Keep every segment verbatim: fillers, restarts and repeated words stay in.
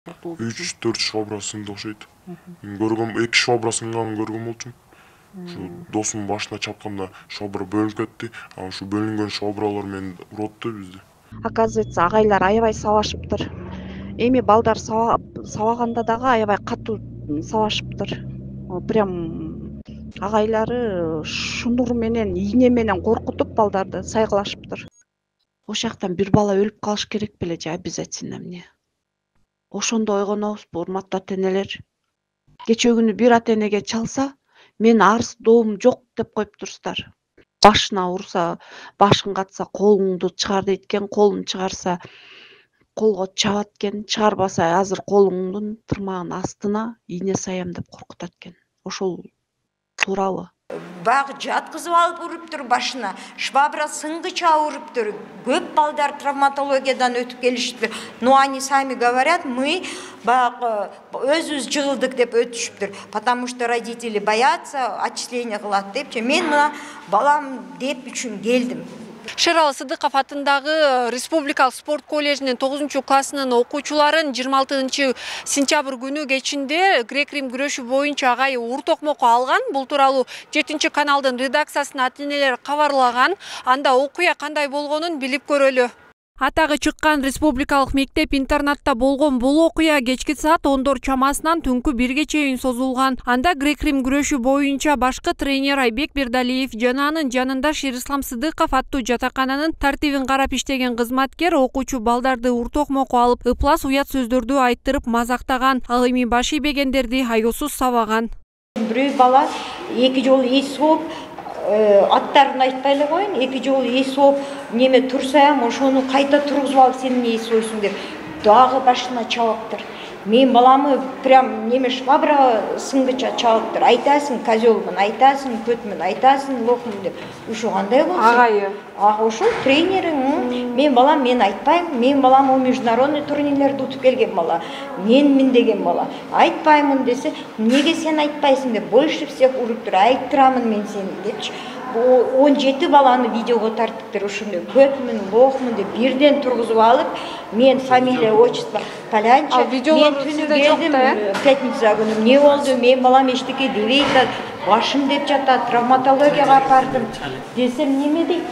үч төрт швабра сынды окшойт. Көргөм, эки швабра сынганын көргөн болчумун. Şu досумдун башына чапканда швабра бөлүнүп кетти. А ушу бөлүнгөн швабралар мени уротtu бизди. Оказывается, агайлар аябай сабашыптыр. Эми балдар сабаганда дагы аябай катуу сабашыптыр. Прям агайлары шунур менен, ийне менен коркутуп балдарды сайгылашыптыр. Ошол жактан бир бала өлүп калыш керек беле же обязательно эмне? Ошондо ойгонобузбу, урматтуу ата-энелер? Кечээ күнү бир ата-энеге чалса, мен арыз доом жок деп коюп турсуздар. Башына урса, башын катса колуңду чыгар дейт экен, колун чыгарса колго чабат экен, чыгарбаса азыр колуңдун тырмагынын астына ийне саям деп коркутат экен. Ошол туурабы? Багы жаткызып алып уруптур башына, швабра сынгыча уруптур. Көп балдар травматологиядан өтүп келишиптир. Но они сами говорят, мы багы өзүбүз жыгылдык деп өтүшүптүр. Потому что родители боятся, отчисление кылат депчи. Мен мына балам деп үчүн келдим. Шералы Сыдыков атындагы Республикалык спорт коллежинин тогузунчу классынын окуучуларын жыйырма алтынчы сентябрь күнү кечинде грек-рим күрөшү боюнча агайы ур токмокко алган. Бул тууралуу жетинчи каналдын редакциясына ата-энелер кабарлаган. Анда окуя кандай болгонун билип көрөлү. Атагы чыккан республикалык мектеп-интернатта болгон бул окуя кечки саат ондор чамасынан түнкү бирге чейин созулган. Анда грек-рим күрөшү боюнча башкы тренер Айбек Бердалиев жана анын жанында Шерислам Сыдыков аттуу жатакананын тартибин карап иштеген кызматкер окуучу балдарды ур токмокко алып, ыплас уят сөздөрдү айттырып мазактаган, ал эми баш ийбегендерди аяусуз сабаган. Бирөө бала эки жолу эс жооп, аттарын айтпай эле коюн, эки жолу эс ооп неме турсам, ошону кайта тургузуп алып сен эмне эс ойсуң деп дагы башына чабыптыр. Мен баламы прям неме швабра сынгыча чабыптыр. Айтасың козёлмун, айтасың көтмүн, айтасың лохмун деп. Ушу кандай болсун? Агайы. А ошо тренериң. Мен балам мен айтпайм. Мен балам о международный турнирлерди утуп келген бала. Менмин деген бала. Айтпаймын десе, неге сен айтпайсың деп больше всех уруптур. Айттырамын мен сени депчи. он жети баланы видеого тарттыктыр. Ушундай көтмүн, лохмун деп бирден тургузуп алып, мен фамилия, отчество Полянча. Мен түнү келдим, пятница күнү эмне болду? Мен балам эчтеке дебей атат, башым деп жатат, травматологияга бардым десем неме дейт?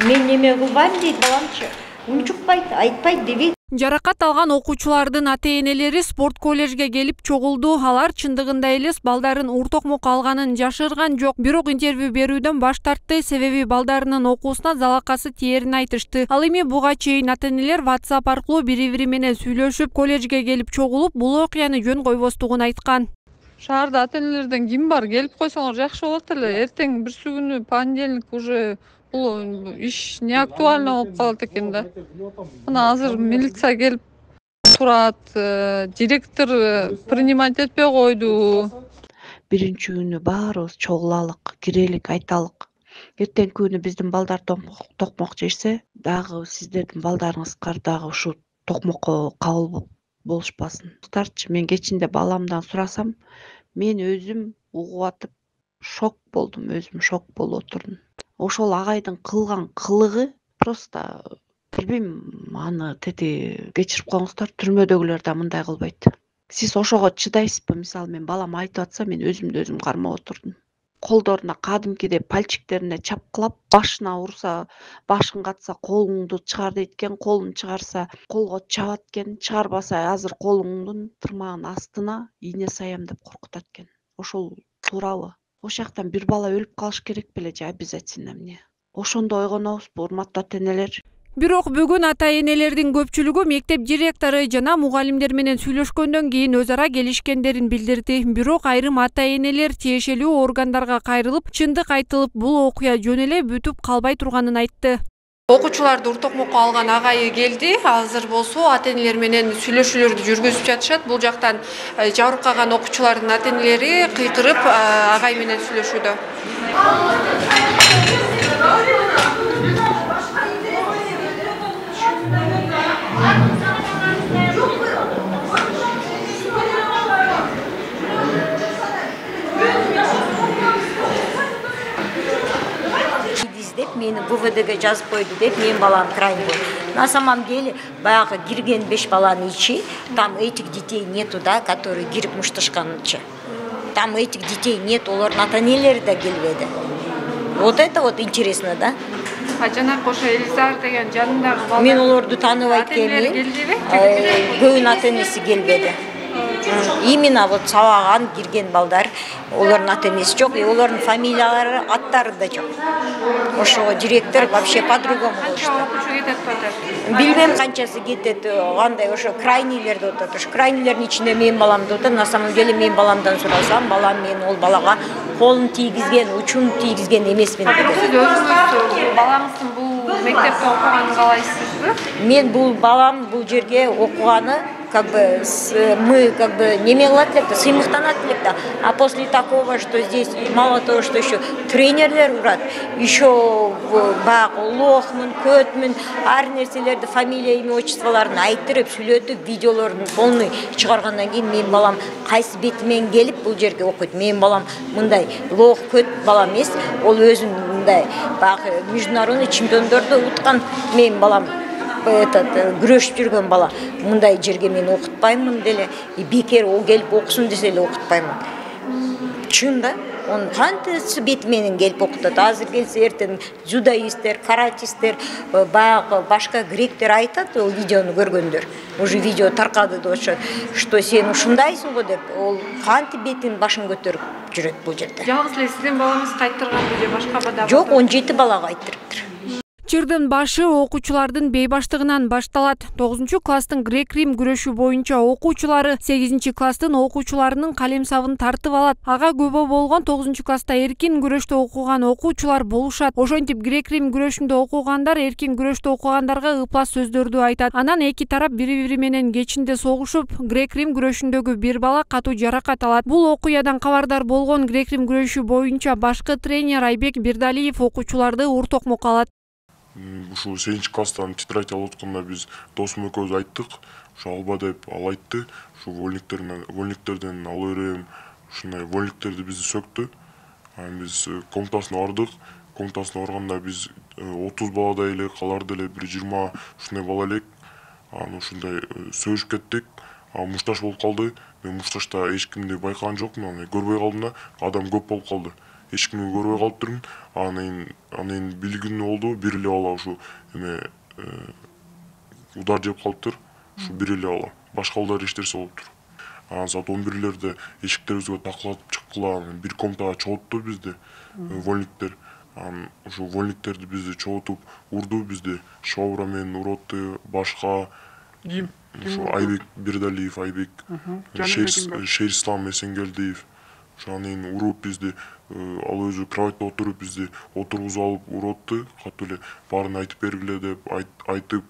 Мен неме кылбайм дейт баламчы. Унчукпайт, айтпайт дебейт. Жаракат алган окуучулардын ата-энелери спорт коллежге келип чогулду. Алар чындыгында эле балдарын ур токмокко алганын жашырган жок. Бирок интервью берүүдөн баш тартты, себеби балдарынын окуусуна залакасы тиерин айтышты. Ал эми буга чейин ата-энелер WhatsApp аркылуу бири-бири менен сүйлөшүп, коллежге келип чогулуп, бул окуяны жөн койбостугун айткан. Шаарда ата-энелерден ким бар? Келип койсоңор жакшы болот эле. Эртең бирсү күнү понедельник уже бул иш не актуально болуп калат экен да. Мына азыр милиция келип турат, директор принимать этпей койду. Биринчи күнү баарыбыз чогулалык, кирелик, айталык. Эртең күнү биздин балдар токмок жешсе, дагы сиздердин балдарыңызга дагы ушу токмокко кабыл болушпасын. Старчы мен кечинде баламдан сурасам, мен өзүм угуп атып шок болдум, өзүм шок болуп отурдум. Ошол агайдын кылган кылыгы просто билбейм, аны тети кечирип коюңуздар, түрмөдөгүлөр да мындай кылбайт. Сиз ошого чыдайсызбы? Мисалы мен балам айтып атса, мен өзүмдү өзүм кармап отурдум. Колдоруна кадимкидей пальчиктерине чапкылап, башына урса, башын катса колуңду чыгар дейт экен, колун чыгарса колго чабат экен, чыгарбаса азыр колуңдун тырмагынын астына ийне саям деп коркутат экен. Ошол туурабы? Ошол жактан бир бала өлүп калыш керек беле же обязательно эмне? Ошондо ойгонобузбу, урматтуу ата-энелер? Бирок бүгүн ата-энелердин көпчүлүгү мектеп директору жана мугалимдер менен сүйлөшкөндөн кийин өз ара келишкендерин билдирди. Бирок айрым ата-энелер тиешелүү органдарга кайрылып, чындык айтылып, бул окуя жөн эле бүтүп калбай турганын айтты. Окуучуларды ур токмокко алган агайы келди. Азыр болсо ата-энелер менен сүйлөшүүлөрдү жүргүзүп жатышат. Бул жактан жабырып калган окуучулардын ата-энелери кыйкырып агай менен сүйлөшүүдө. Издеп мени ВВ МВДге жазып койду деп менин балам крайне болду. На самом деле баягы кирген беш баланын ичи, там этих детей нету, да, которые кирип мушташканчы. Там этих детей нет, олардын ата-энелери да келбеди. Вот это вот интересно, да? А жанакы ошо Элизар деген жанындагы балдар. Мен олорду тааныбайт экенмин. Көбүнүн ата-энеси келбеди. Именно вот сабаган кирген балдар, олардын ата-энеси жок, и олардын фамилиялары, аттары да жок. Ошого директор вообще по-другому болушту. Билбейм канчасы кетет, андай ошо крайнийлер деп атат. Ошо крайнийлердин ичинде менин балам деп атат. На самом деле менин баламдан сурасам, балам мен ол балага колун тийгизген, учун тийгизген эмесмин деп. Сиз өзүңүз балаңыздын бул мектепте окуганын каалайсызбы? Мен бул балам бул жерге окуганы как бы с, мы как бы не кылат элек да, сыймыктанат элек да. А после такого, что здесь мало того, что еще тренерлер урат, еще баягы лохмун, көтмүн, ар нерселерди, фамилия, имя, отчестволорун айтырып, сүйлөтүп, видеолорун полный чыгаргандан кийин менин балам кайсы бети менен келип бул жерге окуйт. Менин балам мындай лох, көт бала эмес, ол өзүн мындай баягы международный чемпиондорду уткан менин балам. Этот күрөшүп жүргөн бала. Мындай жерге мен окутпаймын деле, и бекер о келип окусун десе эле окутпаймын. Чын да, он кантип бети менен келип окутат. Азыр келсе эртең дзюдоисттер, каратисттер, баягы башка гректер айтат, ол видеону көргөндөр. Уже видео таркады деп атышат, что сен ушундайсың го деп, ол кантип бетин башын көтөрүп жүрөт бул жерде. Жалгыз эле сиздин балаңыз кайттырганбы же башка бала? Жок, он жети балага кайттырыптыр. Чырдын башы окуучулардын бейбаштыгынан башталат. тогузунчу класстын грек-рим күрөшү боюнча окуучулары сегизинчи класстын окуучуларынын калем сабын тартып алат. Ага көбө болгон тогузунчу класста эркин күрөштө окуган окуучулар болушат. Ошентип грек-рим күрөшүндө окугандар эркин күрөштө окугандарга ыплас сөздөрдү айтат. Анан эки тарап бири-бири менен кечинде согушуп, грек-рим күрөшүндөгү бир бала катуу жаракат алат. Бул окуядан кабардар болгон грек-рим күрөшү боюнча башкы тренер Айбек Бирдалиев окуучуларды ур токмок алат. Ушу сегизинчи класстан тетрадь алып атканда биз досум экөөбүз айттык, ушу алба деп ал айтты. Ушу вольниктерден вольниктерден ала берем, ушундай вольниктерди бизди сөктү. Анан биз комнатасына бардык. Комнатасына барганда биз отуз баладай эле, калар деле бир жыйырма ушундай бала элек. Анан ушундай сөзүшүп кеттик. А мушташ болуп калды. Мен мушташта эч кимди байкаган жокмун, анан көрбөй калдым да, адам көп болуп калды. Эч кимди көрбөй калыптырмын. Анан анан билгин болду, бир эле бала ушу эме удар жеп калыптыр. Ушу бир эле бала. Башка балдар эчтерсе болуптур. Анан саат он бирлерде эшиктерибизге такылатып чыккыла, бир комнатага чогултту бизди вольниктер. Анан ушу вольниктерди бизди чогултуп урду бизди. Шобра менен уротты, башка ким? Ушу Айбек Бирдалиев, Айбек, Шерислам Эсенгелдиев. Ошонун уруп бизди, ал өзү кроватьта отуруп бизди отургузуп алып уротты, катуу эле баарын айтып бергиле деп айтып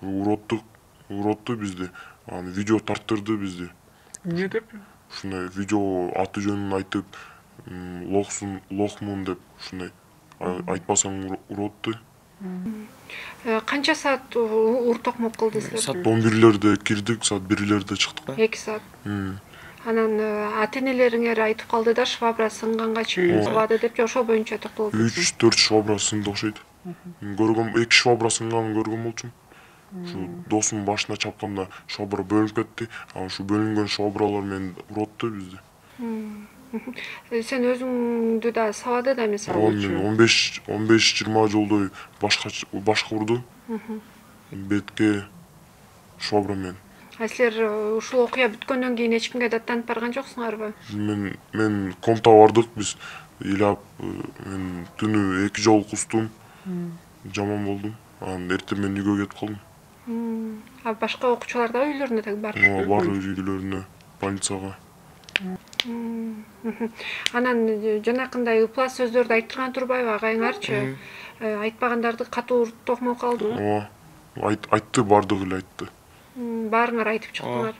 уроттук, уротту бизди. Анан видео тарттырды бизди. Эмне деп? Ушундай видео аты жөнүн айтып, лохсун, лохмун деп ушундай айтпасаң уротты. Канча саат ур токмок кылдыңыздар? Саат он бирлерде кирдик, саат бирлерде чыктык. эки саат. Анан ата-энелериңер айтып калды да, швабра сынганга чейин сыбады деп, ошол боюнча токтолуп. үч төрт швабра сынды окшойт. Көргөм, эки швабра сынганын көргөн болчумун. Ушу досумдун башына чапканда швабра бөлүнүп кетти. Анан ушу бөлүнгөн швабралар менен уротты бизди. Сен өзүңдү да сабады да эмес? Мен он беш жыйырма жолдой башка башка урду. Бетке швабра менен. А силер ушул окуя бүткөндөн кийин эч кимге даттанып барган жоксуңарбы? Мен мен комнатага бардык, биз ыйлап, мен түнү эки жолу кустум. Жаман болдум. Анан эртең мен үйгө кетип калдым. А башка окуучулар да үйлөрүнө тег барышты? Бар үйлөрүнө, больницага. Анан жанакындай ыплас сөздөрдү айттырган турбайбы агайыңарчы? Айтпагандарды катуу ур токмок алды? Ооба. Айтты, бардыгы эле айтты. Баарыңар айтып чыктыңар.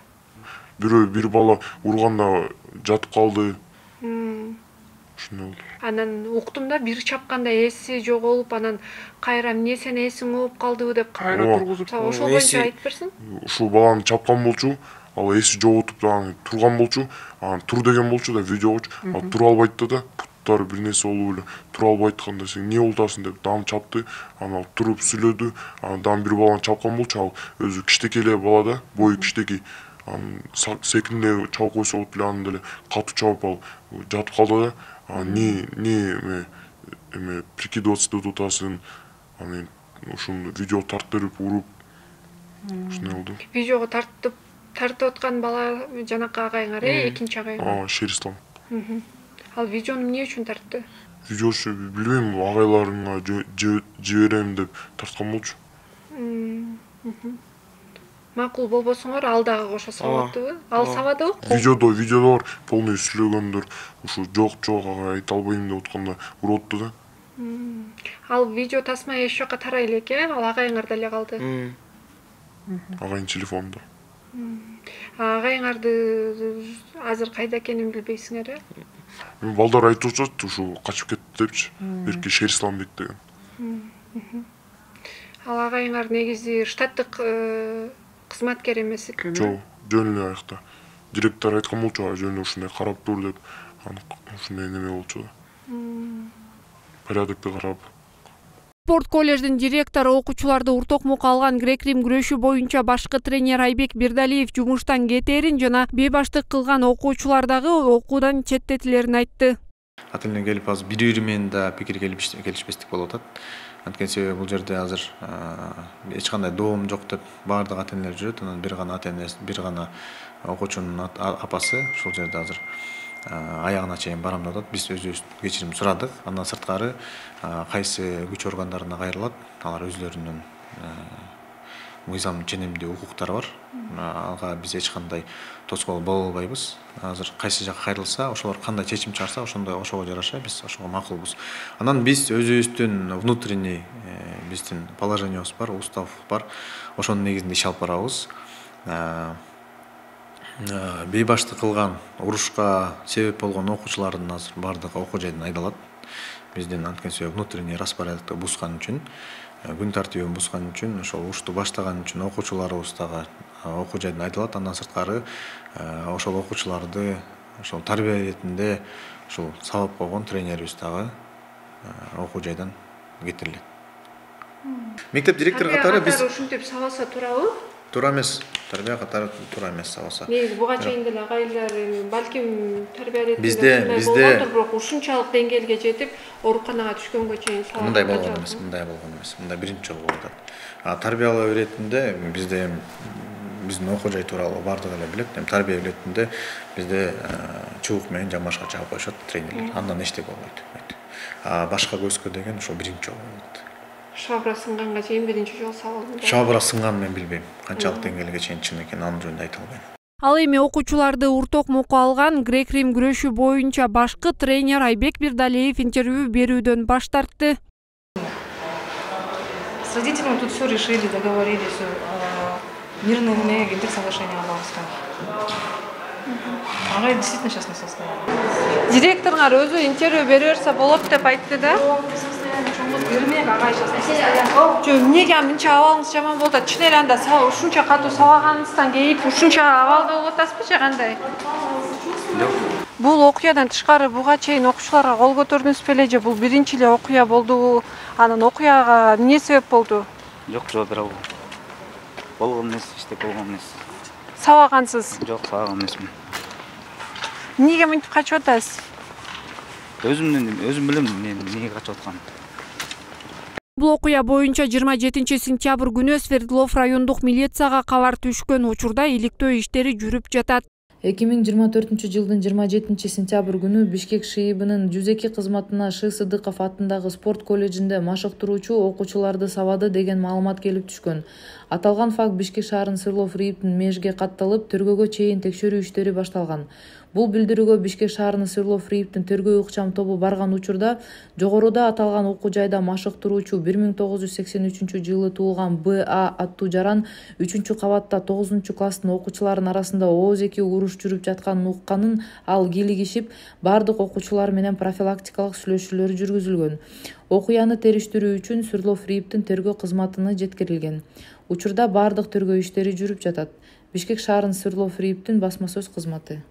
Бирөө бир бала урганда жатып калды. Ушундай болду. Анан уктум да, бир чапканда эси жоголуп, анан кайра эмне сен эсиң ооп калдыбы деп кайра тургузуп. Ошол боюнча айтып берсиң. Ушул баланы чапкан болчу, ал эси жоготуп турган болчу, анан тур деген болчу да видеогочу, ал тура албайт да, уруктары бир нерсе болуп эле тура албай атканда сен эмне болуп атасың деп дам чапты. Анан туруп сүйлөдү. Анан дам бир баланы чапкан болчу, ал өзү кичтеке эле бала да, бою кичтеке. Анан секинде чабып койсо болот эле, анан деле катуу чабып ал жатып калды да. Анан не не эме эме прикидываться деп атасың. Анан ушуну видео тарттырып уруп ушундай болду. Видеого тартып тартып аткан бала жанакы агайыңар, э, экинчи агайың. А, Шерислам. Ал видеону эмне үчүн тартты? Видеошу билбейм, агайларыңа жиберем деп тарткан болчу. Макул болбосоңор ал дагы кошо сабаттыбы? Ал сабадыбы? Видеодо, видеодо бар, полный сүйлөгөндөр, ушу жок жок ага айта албайм деп атканда урутту да. Ал видео тасма эч жакка тарай элек, э? Ал агайыңарда эле калды. Агайын телефонунда. Агайыңарды азыр кайда экенин билбейсиңер, э? Балдар айтып атышат, ушу качып кетти депчи. Берки Шерисламбек деген. Ал агайыңар негизи штаттык кызматкер эмес экен. Жок, жөн эле аякта. Директор айткан болчу, жөн эле ушундай карап тур деп. Аны ушундай неме болчу да. Порядокты карап. Спорт коллеждин директору окуучуларды уртокмокко алган грек-рим күрөшү боюнча башкы тренер Айбек Бирдалиев жумуштан кетерин жана бейбаштык кылган окуучулар дагы окуудан четтетилерин айтты. Ата эне келип азыр бири-бири менен да пикир келишпестик болуп атат. Анткени себеби бул жерде азыр эч кандай доом жок деп баардык ата энелер жүрөт. Анан бир гана ата энеси, бир гана окуучунун апасы ушул жерде азыр аягына чейин барам деп атат. Биз өзүбүз кечирим сурадык. Андан сырткары кайсы күч органдарына кайрылат, алар өзлөрүнүн мыйзам ченемдүү укуктары бар. Ага биз эч кандай тоскоол боло албайбыз. Азыр кайсы жакка кайрылса, ошолор кандай чечим чыгарса, ошондой ошого жараша биз ошого макулбуз. Анан биз өзүбүздүн внутренний биздин положениябыз бар, устав бар. Ошонун негизинде иш алып барабыз. Бейбаштык кылган, урушка себеп болгон окуучулардын азыр бардыгы окуу жайдан айдалат. Биздин анткени себеби внутренний распорядокты бузган үчүн, күн тартибин бузган үчүн, ошол урушту баштаган үчүн окуучуларыбыз дагы окуу жайдан айдалат. Андан сырткары ошол окуучуларды ошол тарбия иретинде ушул сабап койгон тренерибиз дагы окуу жайдан кетирилет. Мектеп директору катары биз ушинтип сабаса турабы? Туура эмес. Тарбия катары туура эмес сабаса. Негизи буга чейин деле агайлар балким тарбия иретинде бизде бизде бирок ушунчалык деңгээлге жетип ооруканага түшкөнгө чейин сабап. Мындай болгон эмес, мындай болгон эмес. Мындай биринчи жолу болуп атат. А тарбиялоо иретинде бизде биздин окуу жай тууралуу бардыгы эле билет. Эми тарбия иретинде бизде чубук менен жамбашка чаап коюшат тренерлер. Андан эчтеке болбойт. А башка көзгө деген ошо биринчи жолу болот. Шабра сынганга чейин биринчи жолу сабалды. Шабра сынган мен билбейм. Канчалык деңгээлге чейин чын экенин анын жөнүндө айта албайм. Ал эми окуучуларды уртокмокко алган грек-рим күрөшү боюнча башкы тренер Айбек Бирдалиев интервью берүүдөн баш тартты. С родителями тут все решили, договорились. Мирное гендер соглашение алабызга. Ага, действительно сейчас не состоянии. Директоруңар өзү интервью бере берсе болот деп айтты да. Жо, эмнеге мынча абалыңыз жаман болуп атат? Чын эле анда ушунча катуу сабаганыңыздан кейип ушунча абалда болуп атасызбы же кандай? Бул окуядан тышкары буга чейин окуучуларга кол көтөрдүңүз беле же бул биринчи эле окуя болду? Анан окуяга эмне себеп болду? Жок, жооп бере албайм. Болгон эмес, иштеп болгон эмес. Сабагансыз? Жок, сабаган эмесмин. Эмнеге мынтип качып атасыз? Өзүмдүн өзүм билем мен эмнеге качып атканын. Бул окуя боюнча жыйырма жетинчи сентябрь күнү Свердлов райондук милицияга кабар түшкөн учурда иликтөө иштери жүрүп жатат. эки миң жыйырма төртүнчү жылдын жыйырма жетинчи сентябрь күнү Бишкек ШИИБынын жүз эки кызматына Ш. Сыдыков атындагы спорт колледжинде машыктыруучу окуучуларды сабады деген маалымат келип түшкөн. Аталган факт Бишкек шаарынын Свердлов РИИБтин межге катталып, тергөөгө чейин текшерүү иштери башталган. Бул билдирүүгө Бишкек шаарынын Свердлов РИИБтин тергөө ыкчам тобу барган учурда жогоруда аталган окуу жайда машыктыруучу бир миң тогуз жүз сексен үчүнчү жылы туулган Б А аттуу жаран үчүнчү кабатта тогузунчу класстын окуучуларынын арасында ооз-эки уруш жүрүп жатканын укканын ал кийлигишип, бардык окуучулар менен профилактикалык сүйлөшүүлөр жүргүзүлгөн. Окуяны териштирүү үчүн Свердлов РИИБтин тергөө кызматына жеткирилген. Учурда бардык тергөө иштери жүрүп жатат. Бишкек шаарынын Свердлов РИИБтин басма сөз кызматы.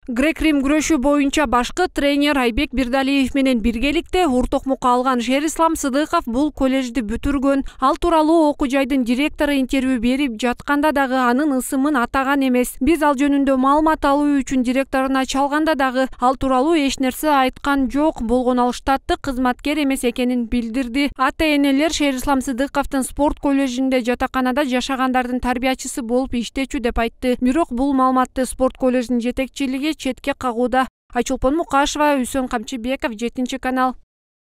Грек-Рим күрөшү боюнча башкы тренер Айбек Бирдалиев менен биргеликте ур токмокко алган Шерислам Сыдыков бул коллежди бүтүргөн. Ал тууралуу окуу жайдын директору интервью берип жатканда дагы анын ысымын атаган эмес. Биз ал жөнүндө маалымат алуу үчүн директоруна чалганда дагы ал тууралуу эч нерсе айткан жок болгон. Ал штаттык кызматкер эмес экенин билдирди. Ата-энелер Шерислам Сыдыковдун спорт коллежинде жатаканада жашагандардын тарбиячысы болуп иштечү деп айтты. Бирок бул маалыматты спорт коллеждин жетекчилиги четке кагууда. Айчолпон Мукашева, Үсөн Камчыбеков, жетинчи канал.